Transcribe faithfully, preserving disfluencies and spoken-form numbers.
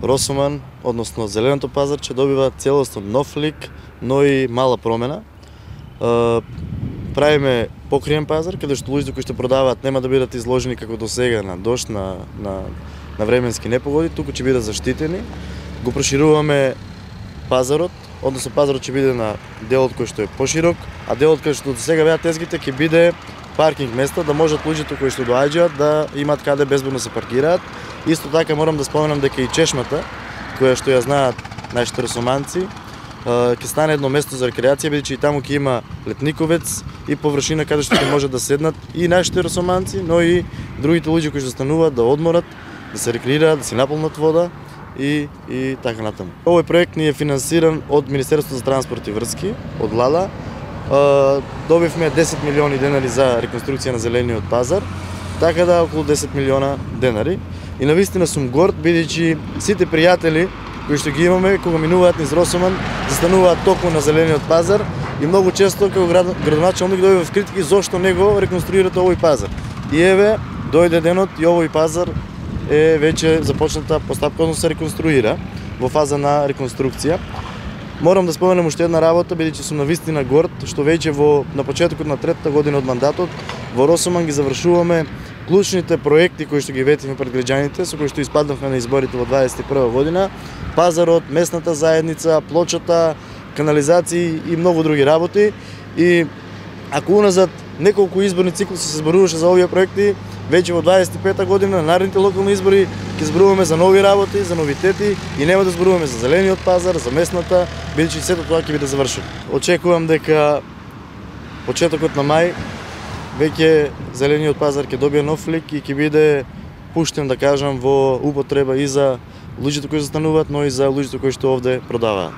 Росоман, односно зеленото пазар, ќе добива целосно нов лик, но и мала промена. Правиме покриен пазар, каде што луѓето кои што продаваат нема да бидат изложени како до сега на дожд, на, на, на временски непогоди, туку ќе бидат заштитени. Го прошируваме пазарот, односно пазарот ќе биде на делот кој што е поширок, а делот кој што до сега беа тезгите ќе биде паркинг место, да можат луѓето кои што доаѓаат да имат каде безбедно се паркираат. Исто така морам да споменам дека и чешмата, која што ја знаат нашите росоманци, ќе стане едно место за рекреација, бидејќи и таму ќе има летниковец и површина каде што ќе може да седнат и нашите росоманци, но и другите луѓе кои што стануваат да одморат, да се рекреираат, да си наполнат вода и и така натаму. Овој проект ни е финансиран од Министерството за транспорт и врски, од Лала. Добивме десет милиони денари за реконструкција на зелениот пазар, така да околу десет милиона денари. И навистина сум горд, бидејќи сите пријатели кои што ги имаме, кога минуваат низ Росоман, застануваат токму на зелениот пазар и многу често како градоначалник дојде в критики зошто не го реконструирате овој пазар. И еве, дојде денот и овој пазар е веќе започната постапка, односно се реконструира во фаза на реконструкција. Морам да споменам уште една работа, бидејќи сум навистина горд што веќе во на почетокот на третата година од мандатот во Росоман ги завршуваме клучните проекти кои што ги ветивме пред граѓаните, со кои што испаднавме на изборите во дваесет и прва година, пазарот, местната заедница, плочата, канализации и многу други работи. И ако уназад неколку изборни циклуси се зборуваше за овие проекти, веќе во дваесет и пета година на наредните локални избори ќе зборуваме за нови работи, за новитети и нема да зборуваме за зелениот пазар, за местната, бидејќи сето тоа ќе биде завршено. Очекувам дека почетокот на мај веќе зелениот пазар ќе добие нов лик и ќе биде пуштен, да кажам, во употреба и за луѓето кои застануваат, но и за луѓето кои што овде продаваат.